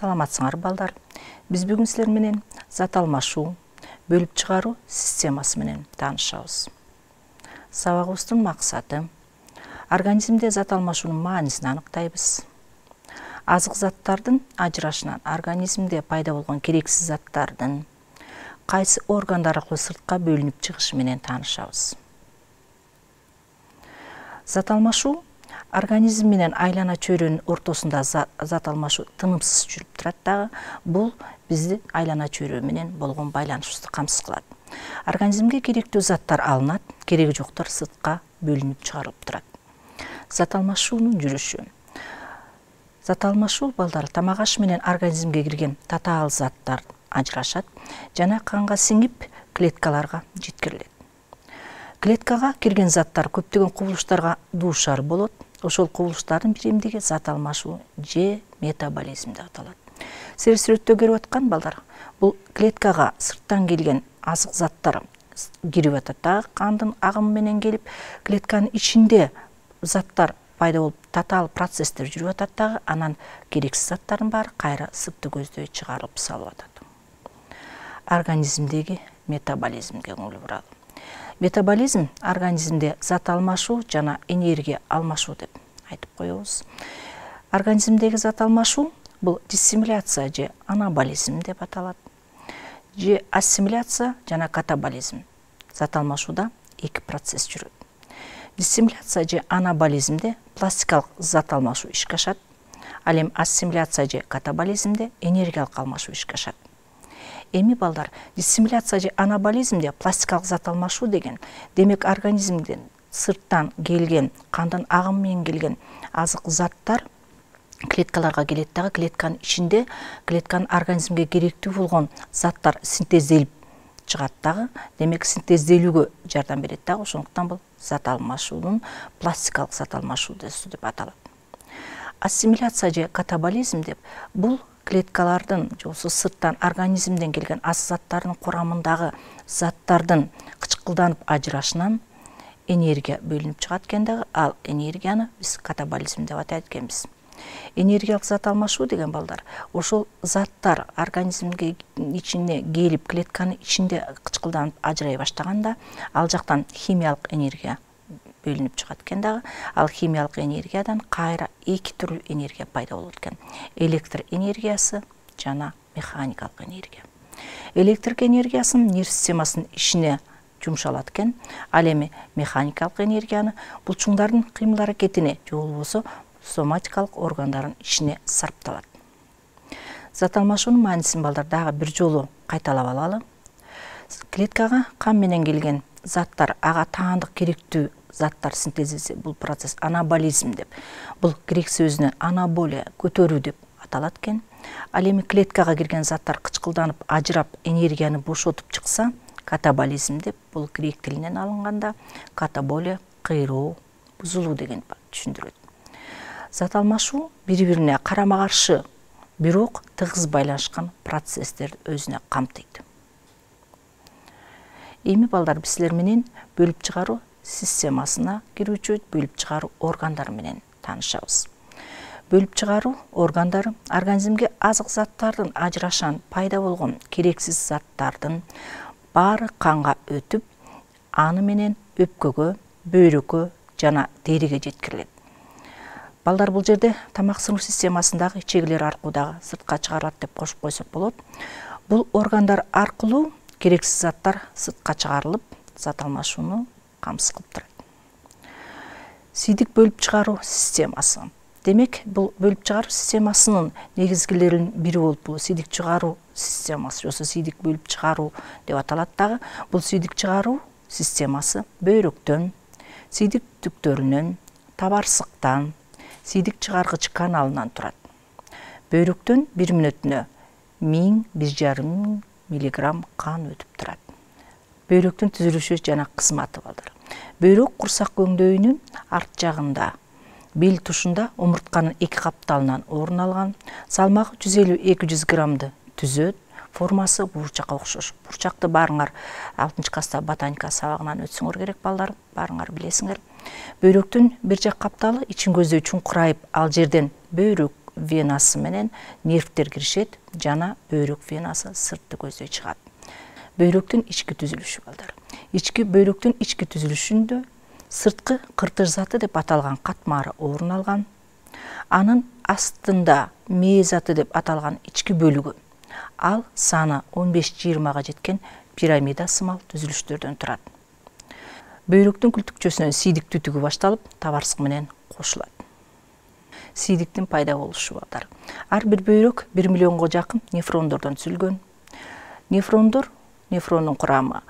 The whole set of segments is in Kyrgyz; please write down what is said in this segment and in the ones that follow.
Саламатсыңар балдар. Биз бүгүн силер менен зат алмашуу, бөлүп чыгаруу системасы менен таанышабыз. Сабагыбыздын максаты организмде зат алмашуунун маанисин аныктайбыз. Азык заттардын ажырашынан организмде пайда болгон керексиз заттардын кайсы органдар аркылуу сыртка бөлүнүп чыгышы менен таанышабыз. Зат алмашуу организм менен айлана чөйрөнүн ортосунда зат алмашуу тынымсыз жүрүп турат дагы. Бул бизди айлана чөйрө менен болгон байланышыбызды камсыз кылат. Организмге керектүү заттар алынат, кереги жоктор сыртка бөлүнүп чыгарылып турат. Зат алмашуунун жүрүшү. Зат алмашуу балдар тамак аш менен организмге кирген татаал заттар ажырашат жана канга сиңип клеткаларга жеткирилет. Клеткага кирген заттар көптөгөн кубулуштарга дуушар болот. Ошол кубулуштардын бир эмдиги зат алмашуу же метаболизм деп аталат. Силер сүрөттө көрүп аткан балдар, бул клеткага сырттан келген азык заттар кирип атат дагы, кандын агымы менен келип, клетканын ичинде заттар пайда болуп, татаал процесстер жүрүп атат дагы, анан керексиз заттардын баары кайра сыпты көздөй чыгарылып салып атат. Организмдеги метаболизмге көңүл буралы. Метаболизм организмде зат алмашуу жана энергия алмашуу деп айтып коебуз. Организмдеги зат алмашуу бул диссимиляция же анаболизм деп аталат. Же ассимиляция жана катаболизм. Зат алмашууда эки процесс жүрөт. Диссимиляция же анаболизмде пластикалык зат алмашуу ишке ашат. Ал эми ассимиляция же катаболизмде энергиялык алмашуу ишке ашат. Эми балдар, диссимиляция же анаболизмде пластикалык зат алмашуу деген, демек организмден сырттан келген, кандын агымы менен келген азык заттар клеткаларга келет дагы, клетканын ичинде клетканын организмге керектүү болгон заттар синтезделип чыгат дагы, демек синтезделүүгө жардам берет дагы. Ошондуктан бул зат алмашуунун пластикалык зат алмашуу деп аталат. Ассимиляция же катаболизм деп бул клеткалардын жолсу сырттан организмден келген азык заттардын курамындагы заттардын кычкылданып ажырашынан энергия бөлүнүп чыгат экен дагы, ал энергияны биз катаболизм деп атайт экенбиз. Энергиялык зат алмашуу деген балдар, ошол заттар организмге ичине келип, клетканын ичинде кычкылданып ажырай баштаганда, ал жактан химиялык энергия бөлүнүп чыгат экен дагы. Ал химиялык энергиядан кайра эки түрлүү энергия пайда болот экен. Электр энергиясы жана механикалык энергия. Электрик энергиясын нерв системасынын ишине жумшалат экен. Ал эми механикалык энергияны булчуңдардын кыймыл аракетине же болбосо соматикалык органдардын ишине сарпталат. Зат алмашуунун маанисин балдар дагы бир жолу кайталап алалы. Клеткага кан менен келген заттар, ага таандык керектүү заттар синтезиси, бул процесс анаболизм деп. Бул грек сөзүнөн анаболия, көтөрүү деп аталат экен. Ал эми клеткага кирген заттар кычкылданып, ажырап, энергияны бошотуп чыкса, катаболизм деп, бул грек тилинен алынганда, катаболия, кыйроо, бузулуу деген түшүндүрөт. Зат алмашуу бири-бирине карама-каршы, бирок тыгыз байланышкан процесстерди өзүнө камтыйт. Эми балдар, биз силер менен бөлүп чыгаруу системасына кирүүчү бөлүп чыгаруу органдары менен таанышабыз. Бөлүп чыгаруу органдары организмге азык заттардын ажырашан пайда болгон керексиз заттардын баары канга өтүп, аны менен өпкөгө, бөйрөккө жана териге жеткирилет. Балдар, бул жерде тамак сыңуу системасындагы ичегилер аркылуу дагы сыртка чыгарылат деп кошуп койсок болот. Бул органдар аркылуу керексиз заттар сыртка чыгарылып, зат алмашууну камсыз кылып турат. Сийдик бөлүп чыгаруу системасы. Демек, бул бөлүп чыгаруу системасынын негизгилеринин бири болуп, бул сийдик чыгаруу системасы, жосо сийдик бөлүп чыгаруу деп аталат дагы. Бул сийдик чыгаруу системасы бөйрөктөн, сийдик түктөрүнөн, табарсыктан, сийдик чыгаргыч каналынан турат. Бөйрөктөн бир мүнөтүнө 1000–1500 миллиграмм кан өтүп турат. Бөйрөктүн түзүлүшү жана кызматы балдар. Бөйрөк курсак көңдөйүнүн арт жагында, бел тушунда омуртканын эки капталынан орун алган, салмагы 150–200 граммды түзөт, формасы бурчакка окшош. Бурчакты баарыңар 6-класста ботаника сабагынан өтсөңөр керек балдар, баарыңар билесиңер. Бөйрөктүн бир жак капталы ичин көздөй чуңкурайып, ал жерден бөйрөк венасы менен нервтер киришет жана бөйрөк венасы сыртты көздөй чыгат. Бөйрөктүн ички түзүлүшү балдар. Бөйрөктүн ички түзүлүшүндө сырткы кыртыш заты деп аталган катмары орун алган. Анын астында мээ заты деп аталган ички бөлүгү. Ал саны 15-20 жеткен пирамида сымал түзүлүштөрдөн турат. Бөйрөктүн күлтүкчөсүнөн сийдик түтүгү башталып, табарсык менен кошулат. Сийдиктин пайда болушу балдар. Ар бир бөйрөк 1 миллионго жакын нефрондордон түзүлгөн. Нефрондун курамы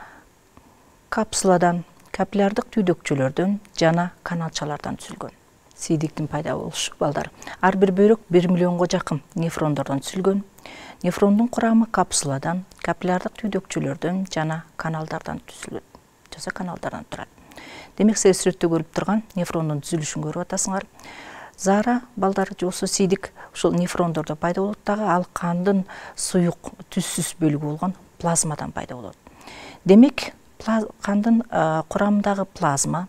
капсуладан, капиллярдык түйдөкчөлөрдөн жана каналчалардан түзүлгөн. Сийдиктин пайда болушу балдар. Ар бир бөйрөк 1 миллионго жакын нефрондордон түзүлгөн. Нефрондун курамы капсуладан, капиллярдык түйдөкчөлөрдөн жана каналдардан түзүлөт. Каналдардан турат. Демек, сиз сүрөттө көрүп турган нефрондун түзүлүшүн көрүп атасыңар. Зара балдар жосу сийдик ушул нефрондордо пайда болот дагы, ал кандын суюк түссүз бөлүгү болгон плазмадан пайда болот. Демек, кандын курамындагы плазма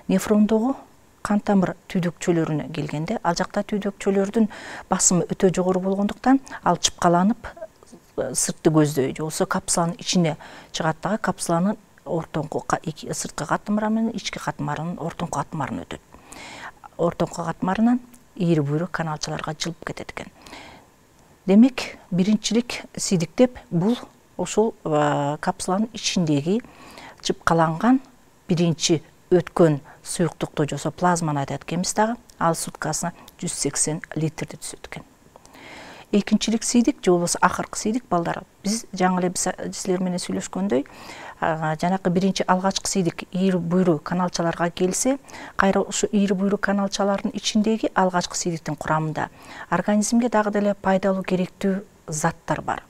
нефрондогу кан тамыр түйдөкчөлөрүнө келгенде, ал жакта түйдөкчөлөрдүн басымы өтө жогору болгондуктан ал чыпкаланып сыртты көздөй жолсо капсуланын ичине чыгат дагы, капсуланын ортоңку сырткы катмары менен ички катмарынын ортоңку катмарына өтөт. Ортоңку катмарынан ийри буйрук каналчаларга жылып кетет экен. Демек, биринчилик сийдиктеп бул ошол капсуланын ичиндеги чыпкаланган биринчи өткөн суюктукту жосо плазманы айтат экенбиз дагы, ал суткасына 180 литрди түзөт экен. Экинчилик сийдик же болбосо акыркы сийдик балдар. Биз жаңы эле силер менен сүйлөшкөндөй, жанакы биринчи алгачкы сийдик ийри буйрук каналчаларга келсе, кайра ушу ийри буйрук каналчалардын ичиндеги алгачкы сийдиктин курамында организмге дагы деле пайдалуу керектүү заттар бар.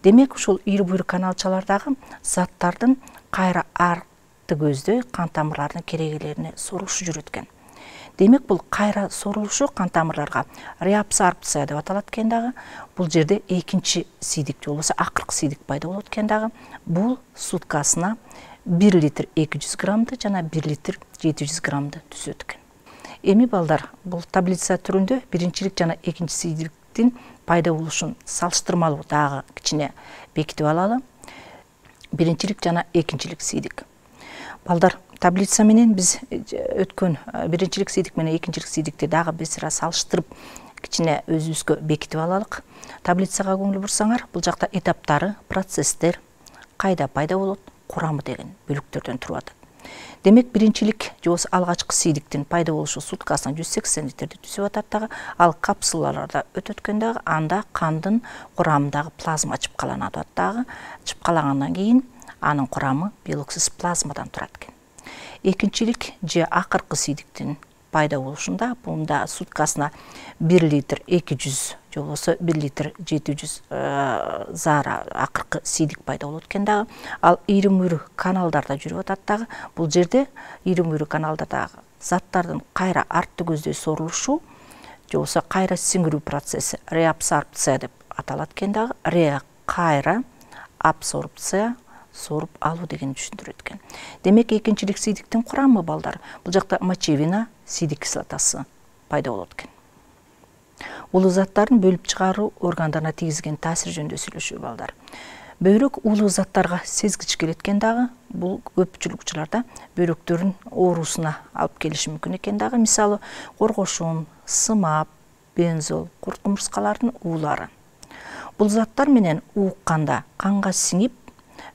Демек, ушул ийри буйрук каналчалардагы заттардын кайра арты көздөй кан тамырларынын керегелерине сорулушу жүрөт экен. Демек, бул кайра сорулушу кан тамырларга реабсорбция деп аталат экен дагы. Бул жерде экинчи сийдик же болбосо акыркы сийдик пайда болот экен дагы. Бул суткасына 1 литр 200 граммды жана 1 литр 700 граммды түзөт экен. Эми балдар, бул таблица түрүндө биринчилик жана экинчи сийдиктин пайда болушун салыштырмалуу дагы кичине бекитип алалы. Биринчилик жана экинчилик сийдик. Балдар, таблица менен биз өткөн биринчилик сийдик менен экинчилик сийдикти дагы биз салыштырып кичине өзүбүзгө бекитип алалык. Таблицага көңүл бурсаңар, бул жакта этаптары, процесстер, кайда пайда болот, курамы деген бөлүктөрдөн туруп атат. Демек, биринчилик же болбосо алгачкы сийдиктин пайда болушу суткасына 180 литрди түзүп атат дагы, ал капсулаларда өтөт экен дагы, анда кандын курамындагы плазма чыпкаланат дагы, чыпкалагандан кийин анын курамы белоксиз плазмадан турат экен. Экинчилик же акыркы сийдиктин пайда болушунда бунда суткасына 1 литр 200 же болбосо 1 литр 700 зара акыркы сийдик пайда болот экен дагы. Ал ийри буйрук каналдарда жүрүп атат дагы. Бул жерде ийри буйрук каналдардагы заттардын кайра артты көздөй сорулушу же болбосо кайра сиңирүү процесси реабсорбция деп аталат экен дагы. Кайра абсорбция соруп алуу деген түшүндүрөт экен. Демек, экинчилик сийдиктин курамы балдар, бул жакта мочевина, сийдик кислотасы пайда болот экен. Улуу заттарын бөлүп чыгаруу органдарына тийгизген таасир жөнүндө сүйлөшүү балдар. Бөйрөк улуу заттарга сезгич келет экен дагы. Бул көпчүлүк учурларда бөйрөктөрдүн оорусуна алып келиши мүмкүн экен дагы. Мисалы, коргошун, сымап, бензол, курт кумурскалардын уулары. Бул заттар менен укканда канга сиңип,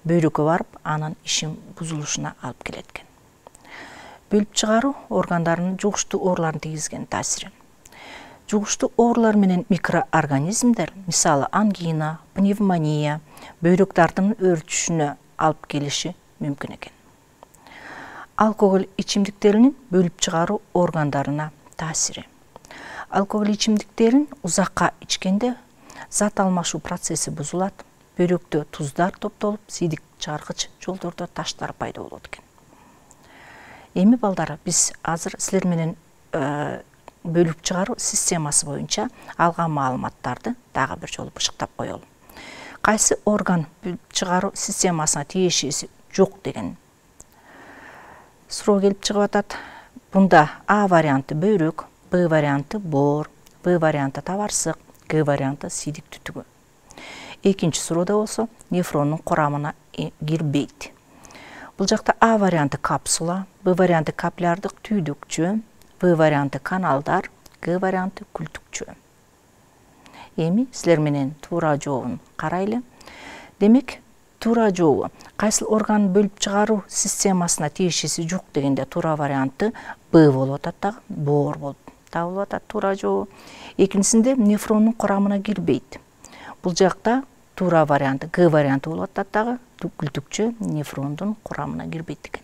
бөйрөккө барып, анын ишин бузулушуна алып келет экен. Бөлүп чыгаруу органдарынын жугуштуу ооруларын тийгизген таасири. Жугуштуу оорулар менен микроорганизмдер, мисалы ангина, пневмония, бөйрөктөрдүн өөрчүшүнө алып келиши мүмкүн экен. Алкоголь ичимдиктеринин бөлүп чыгаруу органдарына таасири. Алкоголь ичимдиктерин узакка ичкенде зат алмашуу процесси бузулат, бөйрөктө туздар топтолуп, сийдик чыгаргыч жолдордо таштар пайда болот экен. Эми балдар, биз азыр силер менен бөлүп чыгаруу системасы боюнча алган маалыматтарды дагы бир жолу бышыктап коелу. Кайсы орган бөлүп чыгаруу системасына тиешеси жок деген суроо келип чыгып атат. Бунда А варианты бөйрөк, Б варианты боор, Б варианты табарсык, Г варианты сийдик түтүгү. Экинчи суроодо болсо нефрондун курамына кирбейт. Бул жакта А варианты капсула, Б варианты капиллярдык түйдүкчө, В варианты каналдар, Г варианты күлтүкчө. Эми силер менен туура жообун карайлы. Демек, туура жообу кайсыл орган бөлүп чыгаруу системасына тиешеси жок дегенде туура варианты Б болуп атат дагы, боор болуп табылып атат туура жообу. Экинчисинде нефрондун курамына кирбейт. Бул жакта туура варианты Г варианты болуп атат дагы, күлтүкчө нефрондун курамына кирбейт экен.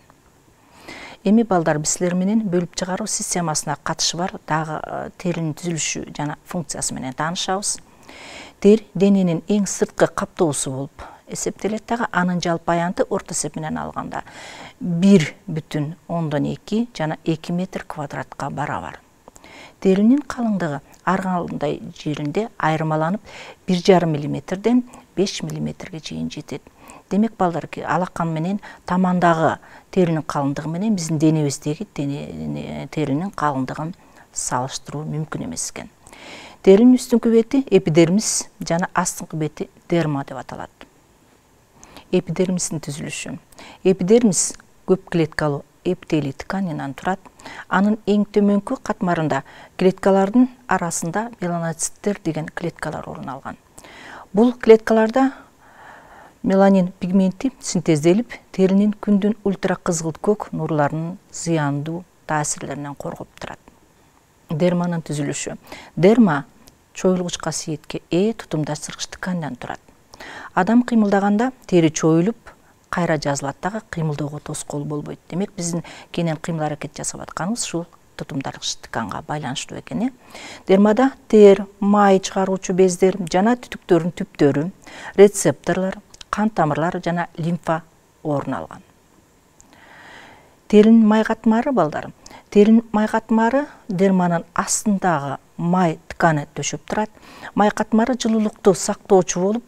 Эми балдар, биз силер менен бөлүп чыгаруу системасына катышы бар дагы теринин түзүлүшү жана функциясы менен таанышабыз. Тери дененин эң сырткы каптоосу болуп эсептелет дагы, анын жалпы аянты орто эсеп менен алганда 1,2 жана 2 метр квадратка барабар. Теринин калыңдыгы ар кандай жеринде айырмаланып 1,5 мм 5 мм чейин жетет. Демек балдар, алакан менен тамандагы теринин калыңдыгы менен биздин денебиздеги теринин калыңдыгын салыштыруу мүмкүн эмес экен. Теринин үстүңкү бети эпидермис жана астыңкы бети дерма деп аталат. Эпидермистин түзүлүшү. Эпидермис көп клеткалуу эпителий тканинан турат. Анын эң төмөнкү катмарында клеткалардын арасында меланоциттер деген клеткалар орун алган. Бул клеткаларда меланин пигменти синтезделип, теринин күндүн ультракызгылт көк нурларынын зыяндуу таасирлеринен коргоп турат. Дерманын түзүлүшү. Дерма чоюлгуч касиетке ээ тутумдашкыч ткандан турат. Адам кыймылдаганда тери чоюлуп, кайра жазылат дагы, кыймылдөөгө тоскоол болбойт. Демек, биздин кенен кыймыл аракет жасап атканыбыз ушул тутумдашкыч тканга байланыштуу экен. Дермада тер, май чыгаруучу бездер жана түтүктөрдүн түптөрү, рецепторлор, кан тамырлар жана лимфа орун алган. Теринин май катмары балдар. Теринин май катмары дерманын астындагы май тканы төшөп турат. Май катмары жылуулукту сактоочу болуп,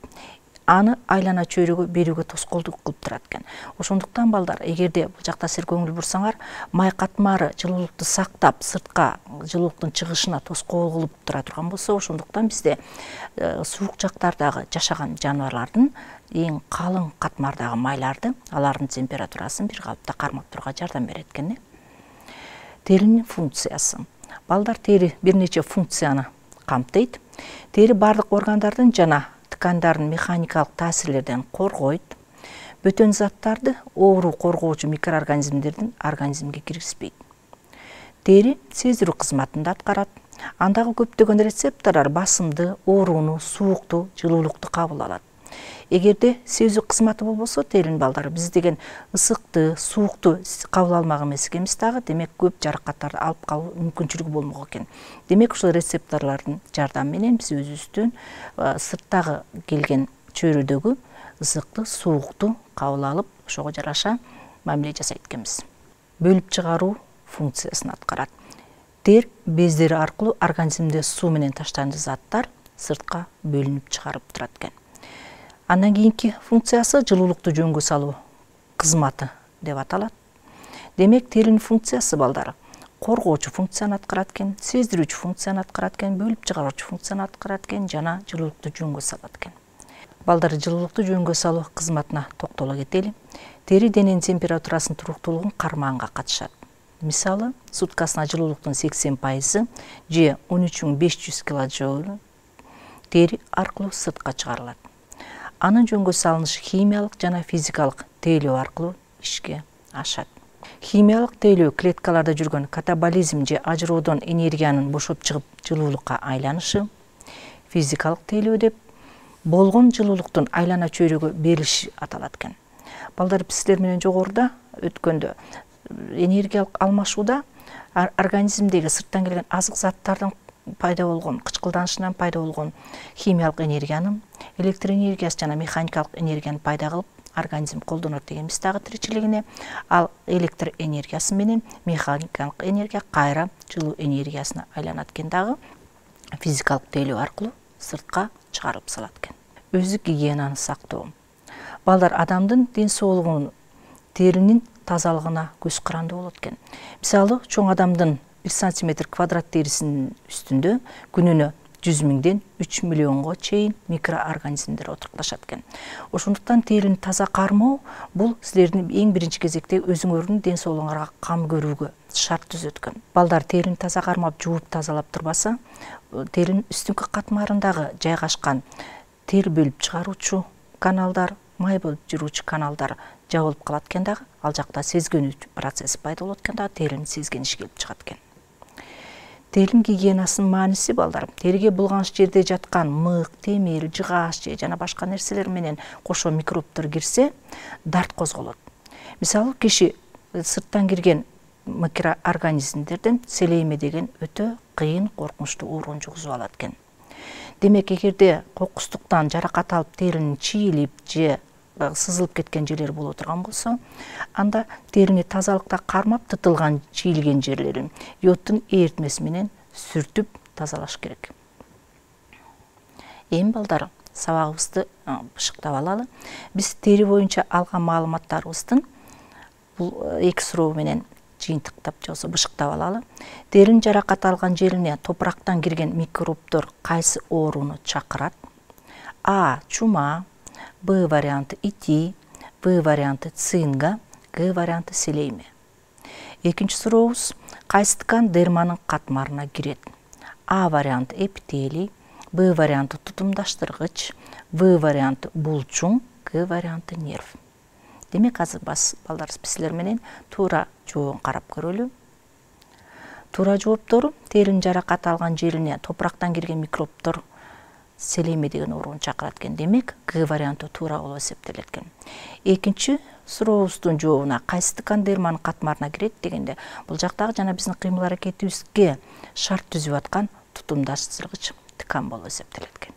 аны айлана чөйрөгө берүүгө тоскоолдук кылып турат экен. Ошондуктан балдар, эгерде бул жакта силер көңүл бурсаңар, май катмары жылуулукту сактап, сыртка жылуулуктун чыгышына тоскоол кылып тура турган болсо, ошондуктан бизде суук жактардагы жашаган жаныбарлардын эң калың катмардагы майларды, алардын температурасын бир калыпта кармап турууга жардам берет экен. Теринин функциясы. Балдар, тери бир нече функцияны камтыйт. Тери бардык органдардын жана ткандардын механикалык таасирлерден коргойт. Бөтөн заттарды оору коргоочу микроорганизмдердин организмге киргизбейт. Тери сездирүү кызматын да аткарат. Андагы көптөгөн рецепторлор басымды, ооруну, суукту, жылуулукту кабыл алат. Эгерде сезүү кызматы болбосо, теринин балдары биз деген ысыкты, суукту кабыл алмак эмес экенбиз дагы, демек көп жаракаттарды алып калуу мүмкүнчүлүгү болмок экен. Демек, ушул рецепторлордун жардамы менен биз өзүбүздүн сырттагы келген чөйрөдөгү ысыкты, суукту кабыл алып, ошого жараша мамиле жасайт экенбиз. Бөлүп чыгаруу функциясын аткарат. Тер бездери аркылуу организмде суу менен таштанды заттар сыртка бөлүнүп чыгарып турат экен. Андан кийинки функциясы жылуулукту жөнгө салуу кызматы деп аталат. Демек, теринин функциясы балдар коргоочу функцияны аткарат экен, сездирүүчү функцияны аткарат экен, бөлүп чыгаруучу функцияны аткарат экен жана жылуулукту жөнгө салат экен. Балдар, жылуулукту жөнгө салуу кызматына токтоло кетели. Тери дененин температурасын туруктуулугун кармаганга катышат. Мисалы, суткасына жылуулуктун 80% же 13500 кJ тери аркылуу сыртка чыгарылат. Анын жөнгө салынышы химиялык жана физикалык тейлөө аркылуу ишке ашат. Химиялык тейлөө клеткаларда жүргөн катаболизм же ажыроодон энергиянын бошоп чыгып жылуулукка айланышы. Физикалык тейлөө деп болгон жылуулуктун айлана чөйрөгө берилиши аталат экен. Балдар, биз силер менен жогоруда өткөндө энергиялык алмашууда организмдеги сырттан келген азык заттардын пайда болгон, кычкылданышынан пайда болгон химиялык энергияны, электр энергиясы жана механикалык энергияны пайда кылып, организм колдонот дегенбиз дагы тиричилигине. Ал электр энергиясы менен механикалык энергия кайра жылуу энергиясына айланат экен дагы, физикалык тейлөө аркылуу сыртка чыгарылып салат экен. Өздүк гигиенаны сактоо. Балдар, адамдын ден соолугунун теринин тазалыгына көз каранды болот экен. Мисалы, чоң адамдын 1 сантиметр квадрат терисинин үстүндө күнүнө 100 миңден 3 миллионго чейин микроорганизмдер отурукташат экен. Ошондуктан терини таза кармоо бул силердин эң биринчи кезекте өзүңөрдүн ден соолугуңарга кам көрүүгө шарт түзөт экен. Балдар терини таза кармап, жууп тазалап турбаса, теринин үстүнкү катмарындагы жайгашкан тер бөлүп чыгаруучу каналдар, май бөлүп жүрүүчү каналдар жабылып калат экен дагы, ал жакта сезгенүү процесси пайда болот экен дагы, теринин сезгениши келип чыгат экен. Теринин гигиенасынын мааниси балдар, териге булганыч жерде жаткан мык, темир, жыгааш же жана башка нерселер менен кошо микробтор кирсе, дарт козголот. Мисалы, киши сырттан кирген микроорганизмдерден селейме деген өтө кыйын, коркунучтуу оорун жугузуп алат экен. Демек, эгерде кокустуктан жаракат алып, теринин чийилип же сызылып кеткен жерлери боло турган болсо, анда терини тазалыкта кармап, тытылган, чийилген жерлерин йодтун эритмеси менен сүртүп тазалаш керек. Эми балдар, сабагыбызды бышыктап алалы. Биз тери боюнча алган маалыматтарыбыздын бул 2 суроо менен жыйынтыктап же болбосо бышыктап алалы. Теринин жаракат алган жерине топурактан кирген микробдор кайсы ооруну чакырат? А. Чума, Б варианты ити, В варианты цинга, Г варианты селейме. Экинчи сурообуз, кайсы ткан дерманын катмарына кирет? А варианты эпителий, Б варианты тутумдаштыргыч, В варианты булчуң, Г варианты нерв. Демек, азыр балдар, силер менен туура жообун карап көрөлү. Туура жооптору: теринин жаракат алган жерине топурактан кирген микробдор селейме деген ооруну чакырат экен. Демек, Г варианты туура болуп эсептелет экен. Экинчи сурообуздун жообуна кайсы ткан дерманын катмарына кирет дегенде, бул жактагы жана биздин кыймыл аракетибизге шарт түзүп аткан тутумдаштыргыч ткан болуп эсептелет экен.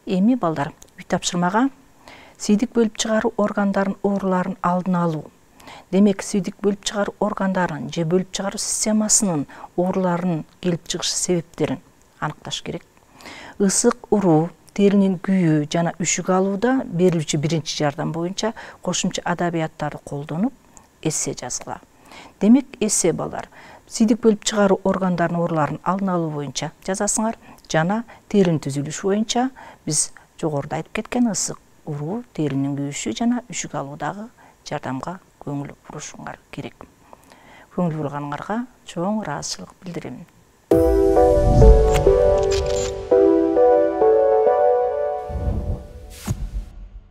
Эми балдар, үй тапшырмага сүйдүк бөлүп чыгаруу органдарынын ооруларын алдын алуу. Демек, сүйдүк бөлүп чыгаруу органдарынын же бөлүп чыгаруу системасынын ооруларынын келип чыгыш себептерин аныкташ керек. Ысык уруу, теринин күйүү жана үшүк алууда берилүүчү биринчи жардам боюнча кошумча адабияттарды колдонуп, эссе жазгыла. Демек, эссе балдар, сүйдүк бөлүп чыгаруу органдарынын ооруларын алдын алуу боюнча жазасыңар жана теринин түзүлүшү боюнча биз жогоруда айтып кеткен ысык уруу, теринин күйүшү жана үшүк алуудагы жардамга көңүл бурушуңар керек. Көңүл бурганыңарга чоң ыраазычылык билдирем.